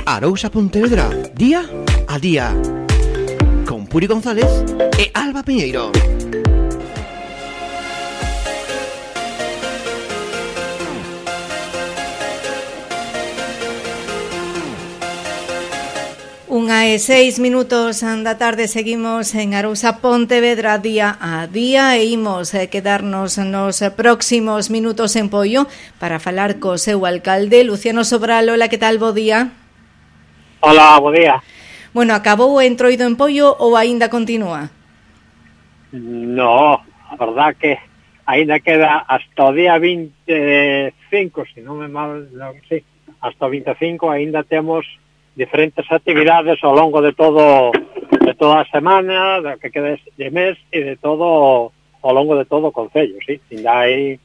Arousa Pontevedra, día a día. Con Puri González e Alba Piñeiro. Unha e 6 minutos da tarde, seguimos en Arousa Pontevedra día a día e imos quedarnos nos próximos minutos en Poio para falar co seu alcalde, Luciano Sobral. Hola, que tal? Bo día. Hola, bo día. Bueno, acabou o entroido en Poio ou aínda continúa? No, a verdad que aínda queda hasta o día 25, se non me mal, sí, hasta o 25 aínda temos diferentes actividades ao longo de toda a semana, do que queda de mes e de todo ao longo de todo o concello, sí. Ainda aí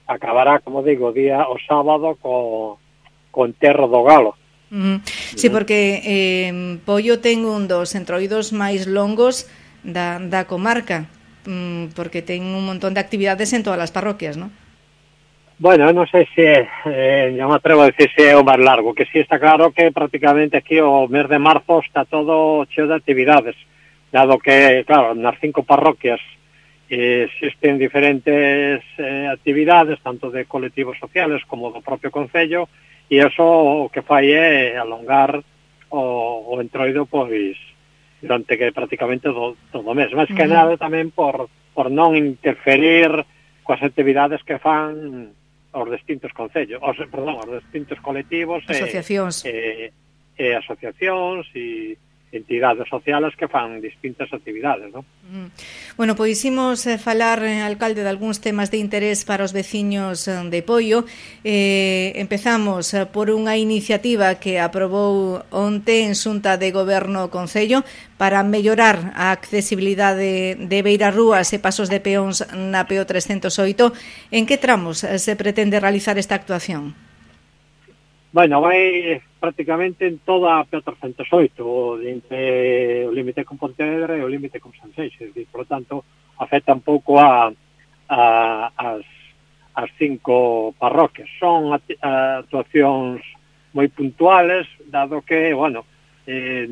acabará, como digo, o sábado co enterro do galo. Sí, porque Poio ten un dos entroidos máis longos da comarca, porque ten un montón de actividades en todas as parroquias, non? Bueno, non sei se non me atrevo a decir se é o máis largo, que sí está claro que prácticamente aquí o mes de marzo está todo cheo de actividades, dado que, claro, nas 5 parroquias existen diferentes actividades, tanto de colectivos sociales como do propio concello, e iso o que fai é alongar o entroido, pois, durante que prácticamente todo o mes. Mas que nada tamén por non interferir coas actividades que fan os distintos concellos, os distintos colectivos, asociacións e asociacións e entidades sociales que fan distintas actividades, non? Bueno, pois imos falar, alcalde, de algúns temas de interés para os veciños de Poio. Empezamos por unha iniciativa que aprobou onte en Xunta de Goberno Concello para mellorar a accesibilidade de beirarrúas e pasos de peóns na PO 308. En que tramos se pretende realizar esta actuación? Bueno, vai prácticamente en toda a PO 308, entre o límite con Pontevedra e o límite con Sanxenxo, e, por lo tanto, afecta un pouco as 5 parroquias. Son actuacións moi puntuales, dado que, bueno,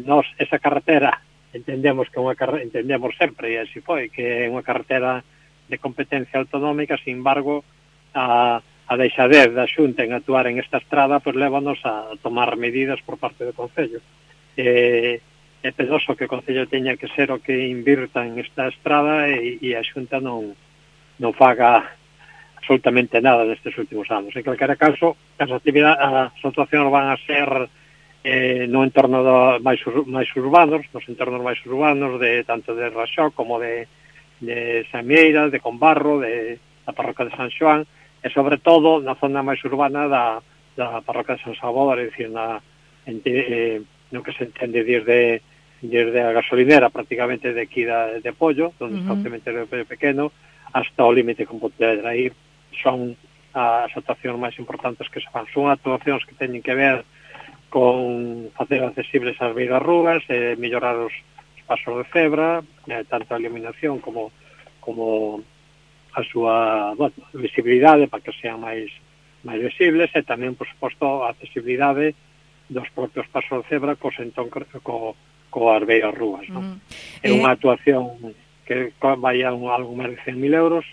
nos esa carretera entendemos que entendemos sempre, e así foi, que é unha carretera de competencia autonómica, sin embargo, a deixadez da Xunta en actuar en esta estrada, pois lévanos a tomar medidas por parte do Concello. É penoso que o Concello teña que ser o que invirta en esta estrada e a Xunta non faga absolutamente nada nestes últimos anos. En calquera caso, as actuacións van a ser no entorno máis urbanos, nos entornos máis urbanos, tanto de Raxó como de Samieira, de Combarro, da parroquia de San Xoán, e sobre todo na zona máis urbana da parroquia de San Salvador, é dicir, no que se entende desde a gasolinera prácticamente de aquí de Pollo, donde está o cementerio pequeno, hasta o límite con Pontevedra. Aí son as actuacións máis importantes que se fan. Son actuacións que teñen que ver con facer accesibles as beirarrúas, mellorar os pasos de cebra, tanto a iluminación como a súa visibilidade para que sean máis visibles, e tamén, por suposto, a accesibilidade dos propios pasos de cebra coas beirarrúas, non? É unha actuación que vai a algo máis de 100.000 euros,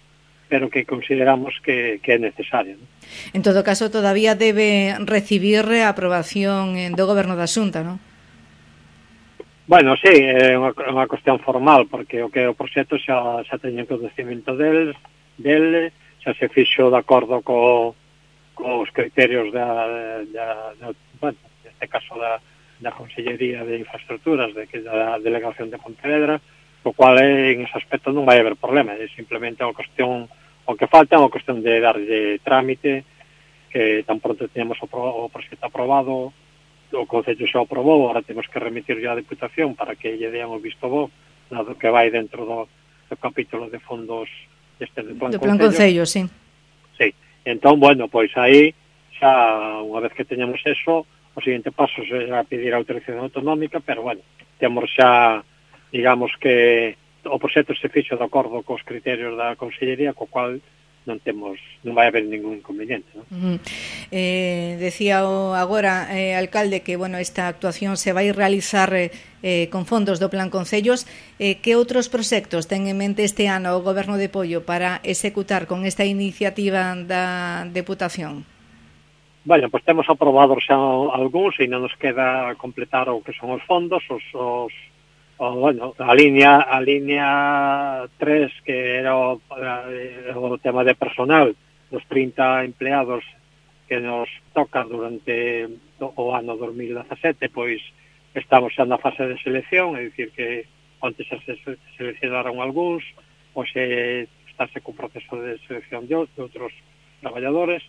pero que consideramos que é necesaria, non? En todo caso, todavía debe recibir a aprobación do Goberno da Xunta, non? Bueno, sí, é unha cuestión formal, porque o proxecto xa teñen conhecimento del, xa se fixo de acordo cos criterios neste caso da Consellería de Infraestructuras, da Delegación de Pontevedra, o cual en ese aspecto non vai haber problema, é simplemente unha cuestión, o que falta é unha cuestión de darlle trámite, que tan pronto tenemos o proxecto aprobado, o Concello xa aprobou, agora temos que remitirlo á Deputación para que lle dean o visto bo, dado que vai dentro do capítulo de fondos do Plan Concello, sí. Sí, entón, bueno, pois aí xa, unha vez que teñamos eso, o seguinte paso será pedir a autorización autonómica, pero, bueno, temos xa, digamos que o proxecto se fixo de acordo cos criterios da Consellería, co cual non vai haber ningún inconveniente, non? Decía agora, alcalde, que bueno, esta actuación se vai realizar con fondos do Plan Concellos. Que outros proxectos ten en mente este ano o Goberno de Poio para executar con esta iniciativa da Deputación? Bueno, pois temos aprobados xa algúns e non nos queda completar o que son os fondos, bueno, a línea 3, que era o tema de personal, dos 30 empleados que nos toca durante o ano 2017, pois estamos xa na fase de selección, é dicir que antes se seleccionaron algúns, pois estáse con proceso de selección de outros traballadores.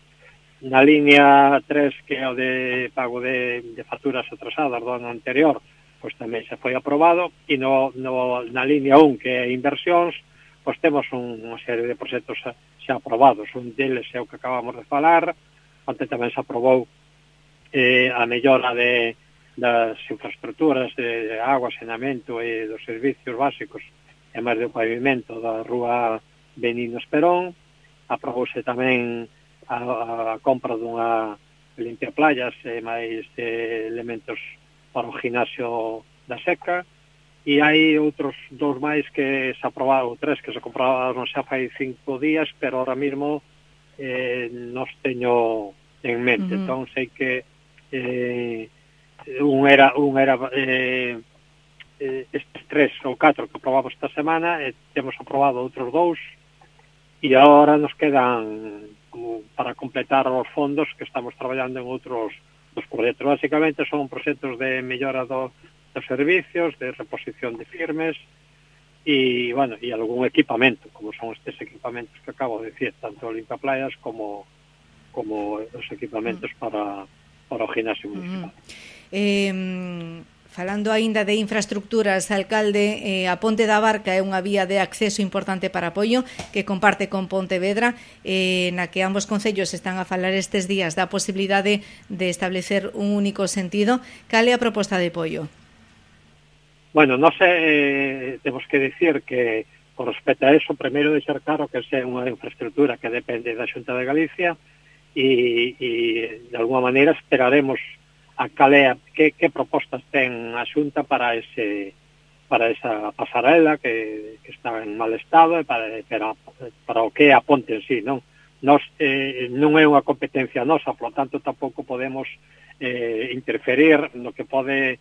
Na línea 3, que é o de pago de facturas atrasadas do ano anterior, pois tamén se foi aprobado, e na línea 1, que é inversións, pois temos unha serie de proxectos xa aprobados. Un deles é o que acabamos de falar, onde tamén se aprobou a mellora das infraestructuras de agua, saneamento e dos servicios básicos, e máis do pavimento da rúa Benigno Esperón. Aprobouse tamén a compra dunha limpia playas e máis elementos para o gimnasio da Seca, e hai outros 2 máis que se aprobaron, 3 que se comprobaron xa fai 5 días, pero ahora mismo nos teño en mente. Entón sei que un era estes 3 ou 4 que aprobamos esta semana, e temos aprobado outros 2, e agora nos quedan como para completar os fondos que estamos traballando en outros dos proxectos. Básicamente son proxectos de mellora dos servicios, de reposición de firmes e, bueno, e algún equipamento, como son estes equipamentos que acabo de decir, tanto o limpaplayas como os equipamentos para o gimnasio municipal. Falando aínda de infraestructuras, alcalde, a Ponte da Barca é unha vía de acceso importante para Poio que comparte con Pontevedra, na que ambos concellos están a falar estes días da posibilidade de establecer un único sentido. Cal é a proposta de Poio? Bueno, non sei, temos que dicir que, por respecto a eso, primeiro deixar claro que é unha infraestructura que depende da Xunta de Galicia e de alguma maneira esperaremos a calea, que propostas ten a Xunta para esa pasarela que está en mal estado e para o que é a ponte en sí, non? Non é unha competencia nosa, por lo tanto tampouco podemos interferir no que pode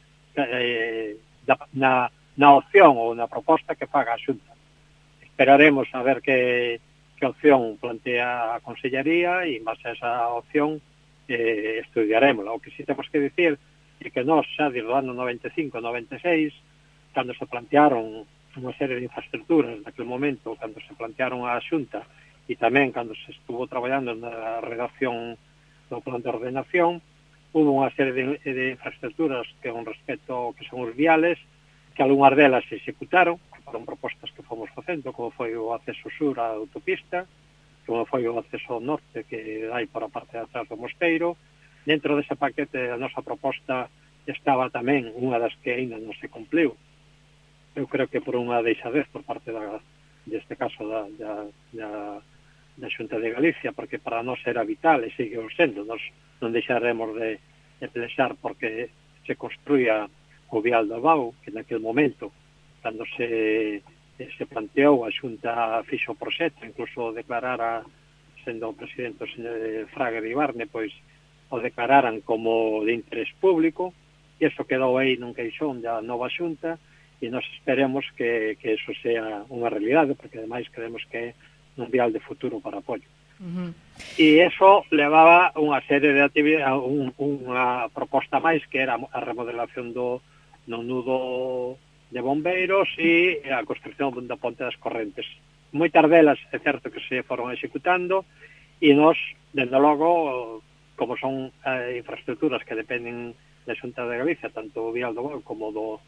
na opción ou na proposta que faga a Xunta. Esperaremos a ver que opción plantea a Consellería e en base a esa opción estudiaremos. O que sí temos que dicir é que nós xa desde o ano 95-96, cando se plantearon unha serie de infraestructuras naquele momento, cando se plantearon a Xunta e tamén cando se estuvo traballando na redacción do plan de ordenación, hubo unha serie de infraestructuras que con respecto que son os viales, que algunhas delas se executaron, foron propostas que fomos facendo, como foi o acceso sur á autopista, como foi o acceso ao norte que hai por a parte de atrás do Mosteiro. Dentro dese paquete a nosa proposta estaba tamén unha das que ainda non se cumpliu. Eu creo que por unha deixadez por parte deste caso da Xunta de Galicia, porque para nós era vital e sigue sendo. Nós non deixaremos de pelexar porque se construía o vial do Bau, que naquele momento, cando se planteou, a Xunta fixo o proxecto, incluso declarara, sendo o presidente o señor Fraga de Ibarne, pois o declararan como de interés público, e iso quedou aí nun queixón da nova Xunta, e nos esperemos que eso sea unha realidade, porque ademais creemos que é un vial de futuro para Poio. E iso levaba unha serie de actividades, unha proposta máis, que era a remodelación do nudo de bombeiros e a construcción da ponte das Correntes. Moitas delas é certo que se foron executando e nós, dende logo, como son infraestructuras que dependen da Xunta de Galicia, tanto o Vial do Bau como do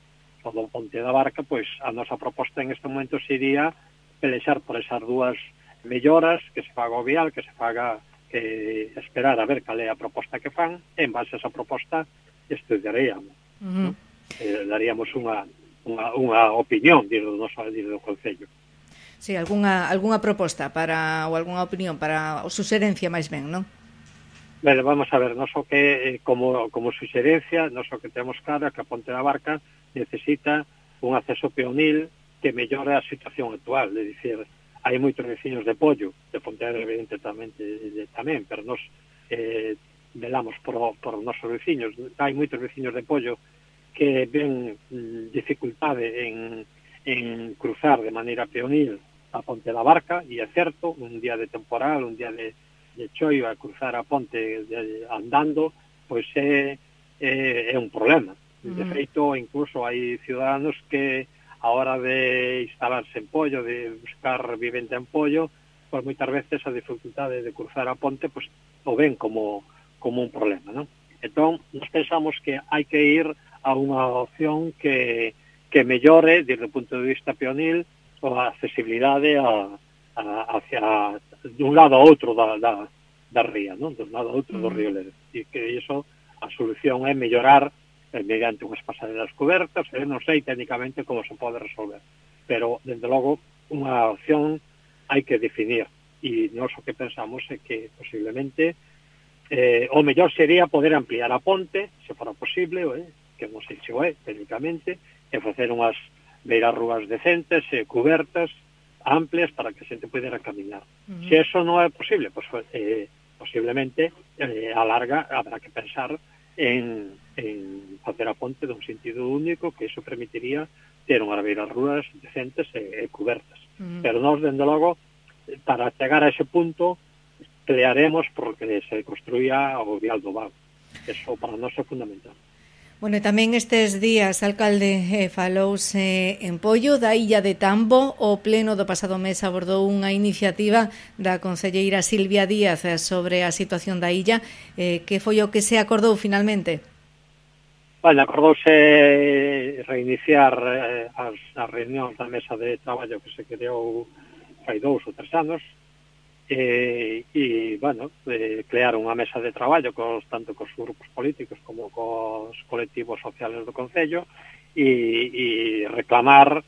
Ponte da Barca, pois a nosa proposta en este momento sería pelexar por esas dúas melloras, que se faga o vial, que se faga, que esperar a ver cal é a proposta que fan, e en base a esa proposta estudiaríamos, daríamos unha opinión desde o Concello. Sí, algunha proposta para ou algunha opinión para o suxerencia máis ben, non? Ben, vamos a ver, non só que como suxerencia, non só que temos claro que a Ponte da Barca necesita un acceso peonil que mellore a situación actual, é dicir, hai moitos veciños de Pollo, de Pontevedra evidentemente tamén, pero nos velamos por nosos veciños, hai moitos veciños de Pollo que ven dificultade en cruzar de maneira peonil a Ponte da Barca, e é certo, un día de temporal, un día de choio a cruzar a ponte andando, pois é un problema. De feito, incluso hai ciudadanos que a hora de instalarse en Pollo, de buscar vivenda en Pollo, pois moitas veces a dificultade de cruzar a ponte pois o ven como un problema, non? Entón, nos pensamos que hai que ir a unha opción que mellore, desde o punto de vista peonil, a accesibilidade hacia de un lado a outro da ría, non? De un lado a outro do río Lérez. E que iso, a solución é mellorar mediante unhas pasarelas cobertas, non sei técnicamente como se pode resolver, pero, dende logo, unha opción hai que definir, e nós o que pensamos é que, posiblemente, o mellor sería poder ampliar a ponte, se fora posible, que non sei se o é, técnicamente, e facer unhas beirarrúas decentes, cobertas, amplias, para que a xente pudera caminar. Se eso non é posible, pues, posiblemente, a larga, habrá que pensar en facer a ponte dun sentido único, que iso permitiría ter unhas beirarrúas decentes e cobertas. Pero nós, dende logo, para chegar a ese punto, pelearemos porque se construía o vial do Vago. Eso para nós é fundamental. Bueno, e tamén estes días, alcalde, falouse en Pollo da Illa de Tambo. O pleno do pasado mes abordou unha iniciativa da concelleira Silvia Díaz sobre a situación da illa. Que foi o que se acordou finalmente? Bueno, acordouse reiniciar as reunións da mesa de traballo que se creou fai 2 ou 3 anos, e, bueno, crear unha mesa de traballo tanto cos grupos políticos como cos colectivos sociales do Concello, e reclamar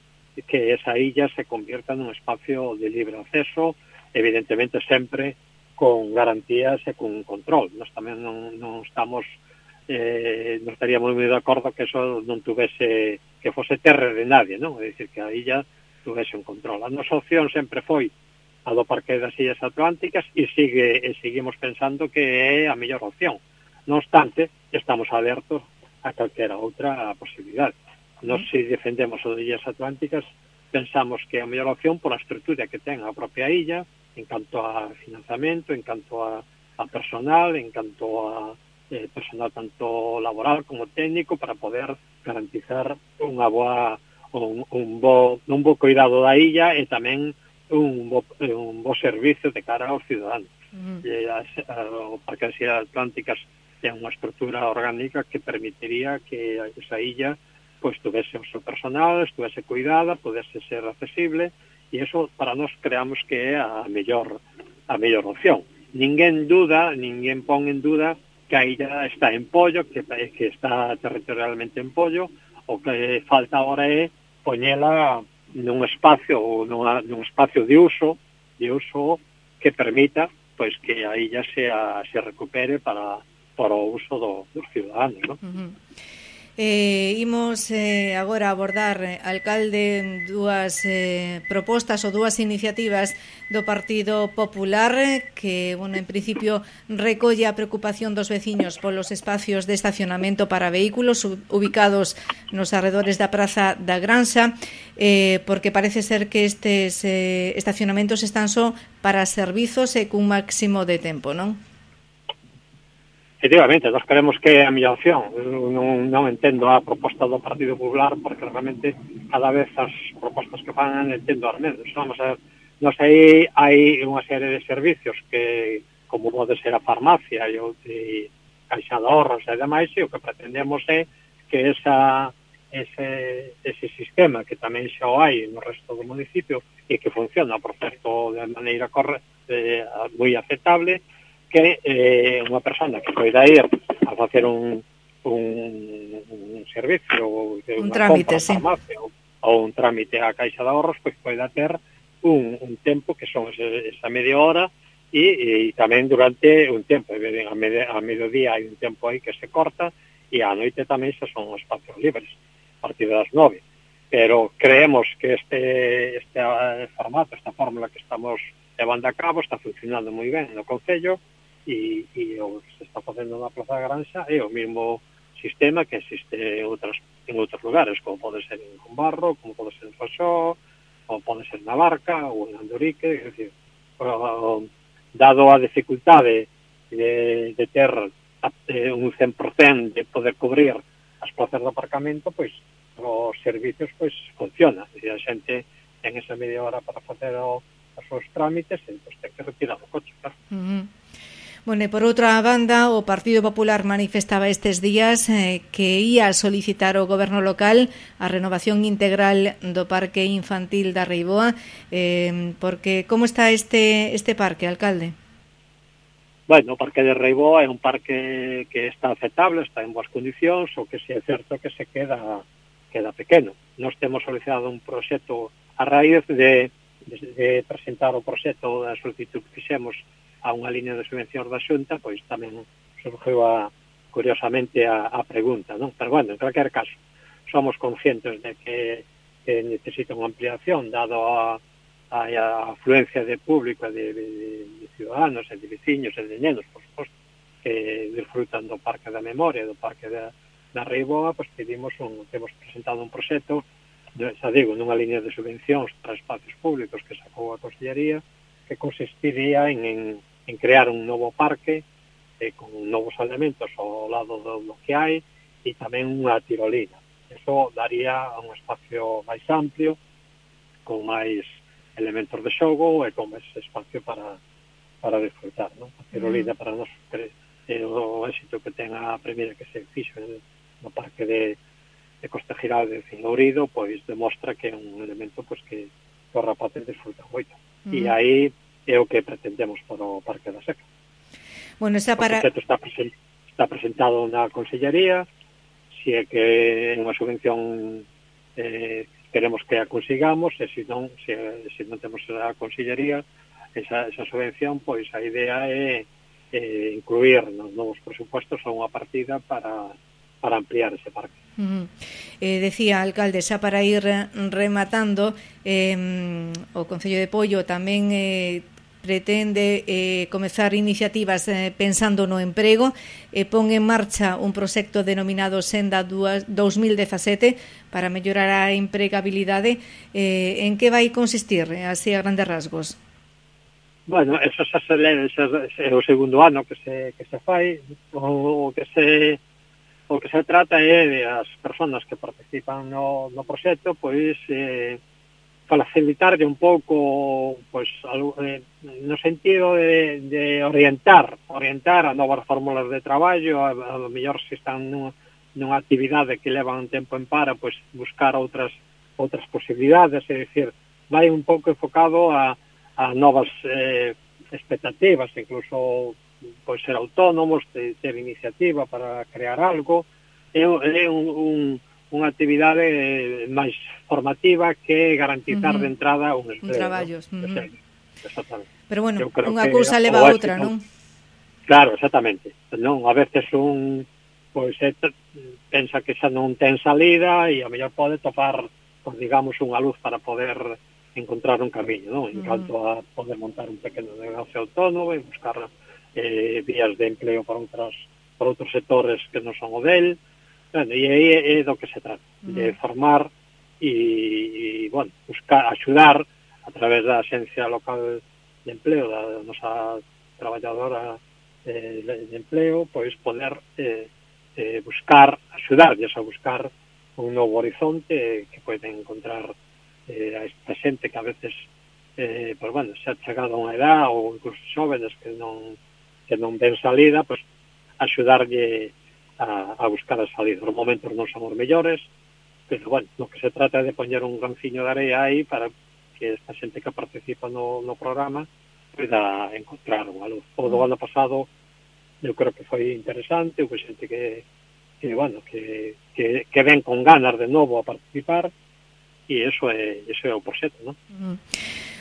que esa illa se convierta nun espacio de libre acceso, evidentemente sempre con garantías e con control. Nós tamén non estamos non estaríamos moi de acordo que eso non tuvese, que fose terra de nadie, non? É dicir, que a illa tuvese un control. A nosa opción sempre foi a do Parque das Illas Atlánticas, e seguimos pensando que é a mellor opción. Non obstante, estamos abertos a calquera outra posibilidade. Nós, se defendemos o de Illas Atlánticas, pensamos que é a mellor opción pola estrutura que ten a propia illa, en canto a financiamento, en canto a personal, en canto a personal tanto laboral como técnico, para poder garantizar un bo cuidado da illa e tamén un bo servicio de cara aos ciudadanos. O Parque das Illas Atlánticas ten unha estrutura orgánica que permitiría que esa illa pois tuvese o seu personal, estuvese cuidada, pudese ser accesible, e eso para nós creamos que é a mellor opción. Ninguén pon en duda que a illa está en Pollo, que está territorialmente en Pollo. O que falta agora é poñela nun espacio de uso que permita pois que a illa se recupere para o uso dos ciudadanos, non? Imos agora abordar, alcalde, dúas propostas ou dúas iniciativas do Partido Popular que, bueno, en principio recolle a preocupación dos veciños polos espacios de estacionamento para vehículos ubicados nos arredores da Praza da Granxa, porque parece ser que estes estacionamentos están só para servizos e cun máximo de tempo, non? Efectivamente, nós queremos que é a mellor opción. Non entendo a proposta do Partido Popular, porque realmente cada vez as propostas que fan entendo as menos. Vamos a ver, nós aí hai unha serie de servicios que, como pode ser a farmacia e caixa de ahorros e demais, e o que pretendemos é que ese sistema que tamén xa o hai no resto do municipio e que funciona, por certo, de maneira moi aceptable, que unha persona que poida ir a facer un servicio, un trámite, farmacia, ou un trámite a caixa de ahorros, pois poida ter un tempo que son esa media hora e tamén durante un tempo, a mediodía hai un tempo aí que se corta e á noite tamén xa son espacios libres a partir das 9, pero creemos que este formato, esta fórmula que estamos levando a cabo está funcionando moi ben no Concello e o que se está facendo na Plaza da Granxa é o mesmo sistema que existe en outros lugares, como pode ser en Combarro, como pode ser en Foxó, como pode ser na Barca ou en Andorique, é dicir, dado a dificultade de ter un 100% de poder cubrir as plazas de aparcamento, pois os servicios pois funciona, e a xente ten esa media hora para facer os seus trámites e pois ten que retirar o coche, claro. Bueno, e por outra banda, o Partido Popular manifestaba estes días que ia solicitar ao goberno local a renovación integral do parque infantil da Reiboa, porque como está este parque, alcalde? Bueno, o parque de Reiboa é un parque que está aceptable, está en boas condicións, o que si é certo que se queda pequeno. Nós temos solicitado un proxecto a raíz de presentar o proxecto da solicitud que fixemos a unha línea de subvencións da Xunta, pois tamén surgiu curiosamente a pregunta, non? Pero bueno, en calquer caso, somos conscientes de que necesita unha ampliación dado a afluencia de público de ciudadanos e de veciños e de nenos, por suposto, que disfrutan do Parque da Memoria, do Parque da Reiboa, pois temos presentado un proxecto, xa digo, nunha línea de subvencións para espacios públicos que sacou a Consellería, que consistiría en crear un novo parque con novos elementos ao lado do que hai e tamén unha tirolina. Eso daría un espacio máis amplio, con máis elementos de xogo e con máis espacio para disfrutar, non? A tirolina para nós o éxito que ten a primeira que se fixo no parque de Costa Giral de Cingourido, pois demostra que é un elemento pois que os rapaces disfrutan moito. E aí é o que pretendemos para o Parque da Seca. Bueno, o proxecto está presentado na Consellería, se é que é unha subvención queremos que a consigamos, e se non temos a Consellería esa subvención, pois a idea é incluir nos novos presupuestos a unha partida para ampliar ese parque. Decía, alcalde, xa para ir rematando, o Concello de Poio tamén pretende comezar iniciativas pensando no emprego e pon en marcha un proxecto denominado Senda 2017 para mellorar a empregabilidade. En que vai consistir, así a grandes rasgos? Bueno, eso xa se lee, é o segundo ano que se fai, o que se trata é de as persoas que participan no proxecto, pois facilitarlle un pouco, pois no sentido de orientar a novas fórmulas de traballo, a lo mellor se están nunha actividade que levan tempo en para, pois buscar outras posibilidades, é dicir, vai un pouco enfocado a novas expectativas, incluso pois ser autónomos, ter iniciativa para crear algo. É unha actividade máis formativa que garantizar de entrada un empleo. Un traballos. Exactamente. Pero bueno, unha cousa leva a outra, non? Claro, exactamente. Non, a veces pois pensa que xa non ten salida e a mellor pode topar, pues, digamos, unha luz para poder encontrar un camiño, non? En canto a poder montar un pequeno negocio autónomo e buscar vías de empleo para outros sectores que non son o del. Bueno, e aí é do que se trata, de formar e bueno, buscar, axudar a través da Axencia Local de Empleo, da nosa traballadora de empleo, pois poder buscar, axudarlles a buscar un novo horizonte que poden encontrar a esta xente que a veces pois bueno, se ha chegado a unha edad ou incluso xóvenes que non ven salida, pois axudarlle a buscar a salida. Os momentos non son os mellores, pero bueno, lo que se trata é de poñer un granciño de area aí para que esta xente que participa no programa poida encontrar unha luz. O do ano pasado eu creo que foi interesante, houve xente que ven con ganas de novo a participar, e eso é o proxecto, non?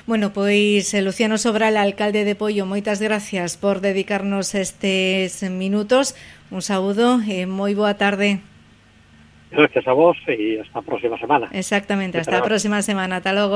Bueno, pois Luciano Sobral, alcalde de Poio, moitas gracias por dedicarnos estes minutos. Un saúdo e moi boa tarde. Gracias a vos e hasta a próxima semana. Exactamente, hasta a próxima semana. Ata logo.